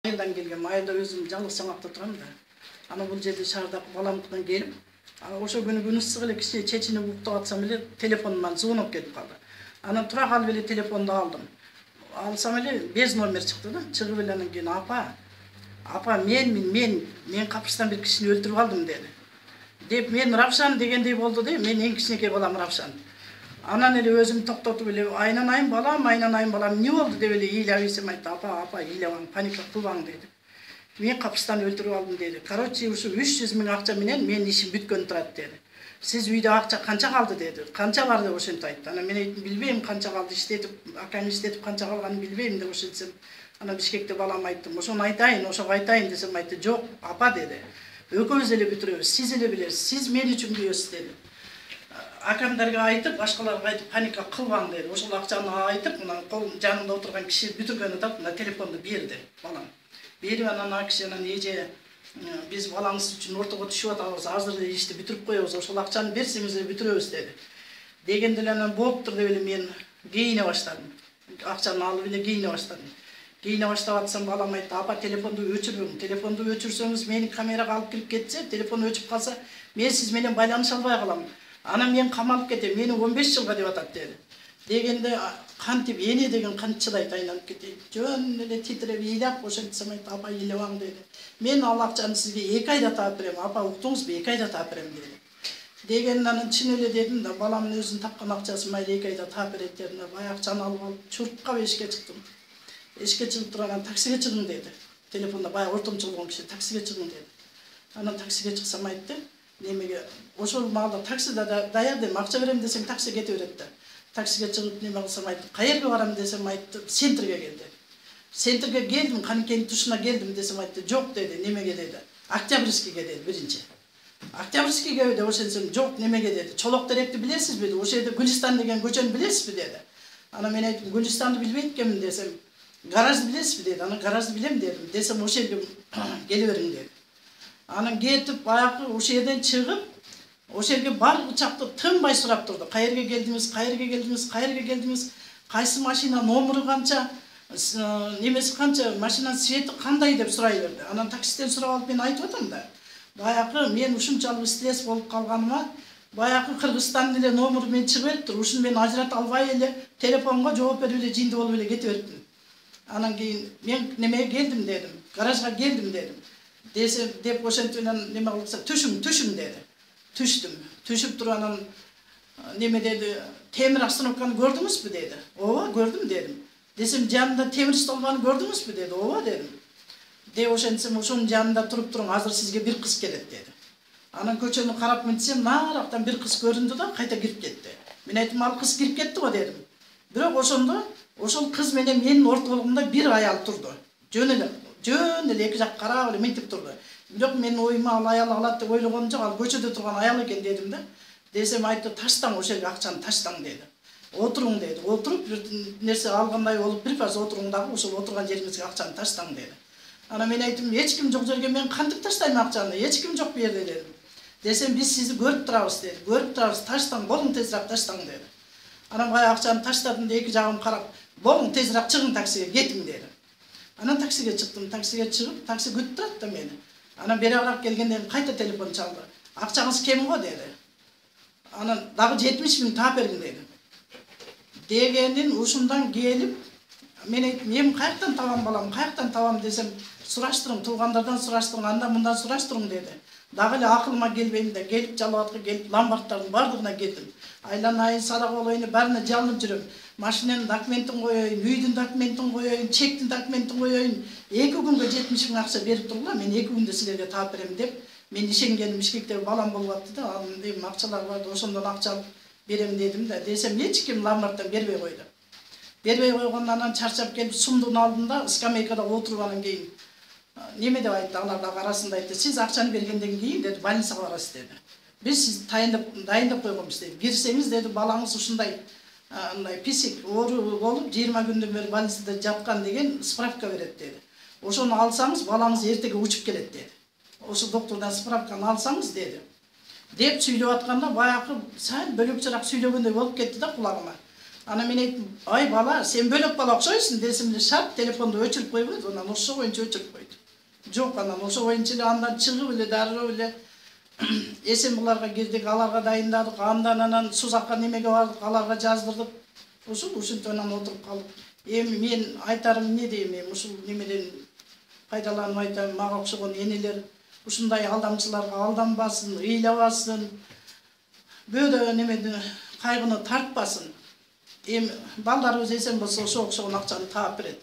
Айылдан келгем, айылда өзүм жалгыз саңакта турам да. Ана бул жерде шаардак баламдыкан келип, ошо күнү күн ысык эле кичине чечинип уктап атсам эле телефонуман звонок келип калды. Анан тура калып эле телефонду алдым. Алсам эле без номер чыкты да. Чыгып эле анан кийин апа мен капырстан бир кишини өлтүрүп алдым деди. Деп мен Равшан дегендей болду да, мен эң кичинекей балам Равшан. Анан эле өзүм токтотуп эле айнанайым балам, эмне болду деп эле ыйлап айтты. Апа, ыйлабаң, паника кылбаң деди. Мен капырстан өлтүрүп алдым деди. Короче, ушу 300 000 акча менен менин ишим бүткөн турат деди. Сиз үйдө акча канча калды деди. Канча бар деп ошентип айтты. Анан мен айттым, билбейм канча калды, акам иштетип канча калганын билбейм деп ошентсем. Анан Бишкекте балам айттым, ошону айтайын, ошого айтайын десем айтты, жок, апа деди. Экөөбүз эле бүтүрөбүз, сиз эле билесиз, сиз мен үчүн күйөсүз деди. Акамдарга айтып, башкаларга айтып паника кылбаң деди. Ошол акчаны айтып, мына кол жанымда отурган киши бүтүргөнү тап, мына телефонду берди балам. Берип анан ал киши анан эже биз балаңыз үчүн ортого түшүп атабыз, азыр эле ишти бүтүрүп коебуз, ошол акчаны берсеңиз эле бүтүрөбүз деди. Дегенде эле анан болуптур деп эле мен кийине баштадым. Акчаны алып эле кийине баштадым. Кийине баштап атсам балам айтты, апа телефонду өчүрбөң. Телефонду өчүрсөңүз мени камерага алып кирип кетсе, телефон өчүп калса, мен сиз менен байланыша албай калам. Анан мен камалып кетем, мени 15 жылга деп атат деди. Дегенде кантип эне деген канчыдайт айланып кетейин. Жөн эле титиреп ыйлап ошентсем айтты, апа ыйлабаң деди. Мен ал акчаны сизге 2 айда таап берем, апа уктуңузбу, 2 айда таап берем деди. Дегенде анан чын эле дедим да, баламдын өзүнүн тапкан акчасын майда 2 айда таап берет дедим да, бай акчаны алып алып чуркап эшикке чыктым. Эшикке чыгып турган таксиге чыгың деди. Телефонда бай ортомчу болгон киши таксиге чыгың деди. Анан таксиге чыксам айтты, немеге ошол маалда таксида даяр дем, акча берем десең такси кете берет да. Таксиге чыгып неме кылсам айтты, каерге барам десем айтты, центрге кел деди. Центрге келдим, Каныкенин тушуна келдим десем айтты, жок деди, немеге деди. Октябрьскийге деди биринчи. Октябрьскийге деп ошентсем, жок немеге деди. Чолок теректи билесизби деди. Ошол жерде Гүлистан деген көчөнү билесизби деди. Анан мен айттым, Гүлистанды билбейт экенмин десем, гаражды билесизби деди. Анан гаражды билем дедим. Десем ошол жерге келе бериң деди. Анан кетип баягы ошол жерден чыгып, ошол жерге бар учакты тынбай сурап турду. Каерге келдиңиз, кайсы машина номеру канча, немеси канча, машинанын свети кандай деп сурай берди. Анан таксистен сурап алып мен айтып атам да. Баягы мен ушунчалык стресс болуп калганыма, баягы Кыргызстандын эле номеру мен чыгып бериптир. Ушуну мен ажырата албай эле телефонго жооп берип эле жинди болуп эле кете бериптим. Анан кийин мен немеге келдим дедим, гаражга келдим дедим. Деп ошентип эле неме кылса, түшүң деди. Түштүм. Түшүп туруп анан неме деди, темир остановканы көрдүңүзбү деди. Ооба, көрдүм дедим. Десем, жанында темир столбаны көрдүңүзбү деди. Ооба дедим. Деп ошентсем, ошонун жанында туруп туруң, азыр сизге бир кыз келет деди. Анан көчөнү карап мынтсем, нарактан бир кыз көрүндү да, кайта кирип кетти. Мен айттым, ал кыз кирип кетти го дедим. Бирок ошондо ошол кыз менен менин ортолугумда бир аял турду. Жөн эле эки жак карап эле мынтип турду. Бирок менин оюма ал аял алат деп ойлогонум жок, ал көчөдө турган аял экен дедим да. Десем айтты, таштаң ошол жерге акчаны таштаң деди. Отуруң деди. Отуруп бир нерсе алгандай болуп, бир паз отуруң дагы ошол отурган жериңизге акчаны таштаң деди. Анан мен айттым, эч ким жок жерге мен кантип таштайм акчаны? Эч ким жок бу жерде дедим. Десем, биз сизди көрүп турабыз деди. Көрүп турабыз, таштаң, болуң тезирээк таштаң деди. Анан бая акчаны таштадым да, эки жагым карап, болуң тезирээк чыгың таксиге, кетиң деди. Анан таксиге чыктым, таксиге чыгып, такси күтүп турат да мени. Анан берабыраак келгенде кайта телефон чалды. Акчаңыз кем го деди. Анан дагы 70 000 таап бергин деди. Дегенин ушундан келип, мен айттым, мен каяктан табам балам, каяктан табам десем, сураштырың, туугандардан сураштырың, андан мындан сураштырың деди. Дагы эле акылыма келбейм да, келип жалбатка келип ломбарддардын бардыгына келдим. Айланайын, садак болоюн, баарына жалынып жүрөм. Машинанын документин коеюн, үйдүн документин коеюн, чектин документин коеюн. 2 күнгө 70 000 акча берип тургула, мен 2 күндө силерге таап берем деп, мен ишенгеним Бишкектеги балам болуп атты да, анын дейм акчалар бар, ошондон акча алып берем дедим да. Десем, эч ким ломбарддан бербей койду. Бербей койгондон анан чарчап келип сумдун алдында скамейкада отуруп анан кийин неме деп айтты, алар дагы арасында айтты, сиз акчаны бергенден кийин деди, больницага барасыз деди. Биз сизди дайындап койгонбуз деди. Кирсеңиз деди, балаңыз ушундай писик оору болуп 20 күндөн бери больницада жаткан деген справка берет деди. Ошону алсаңыз, балаңыз эртеге учуп келет деди. Ошо доктордон справканы алсаңыз деди. Деп сүйлөп атканда баягы сәл бөлөкчөрөөк сүйлөгөндөй болуп кетти да кулагыма. Ана мен айттым, ай бала, сен бөлөк бала окшойсуң десем эле шарт телефонду өчүрүп койбойт, анан ошо боюнча өчүрүп койду. Жок, анан ошо боюнча эле андан чыгып эле дароо эле эсен буларга кирдик, аларга дайындадык, анан Сузакка немеге бардык, аларга жаздырдык. Ушинтип анан отуруп калдык. Эми мен айтарым эмне дейм, эми ушул немеден пайдаланып айтам, мага окшогон энелер ушундай алдамчыларга алданбасын, ыйлабасын, бөөдө немени кайгыны тартпасын. Эми балдарыбыз эсен болсо ошо окшогон акчаны таап берет.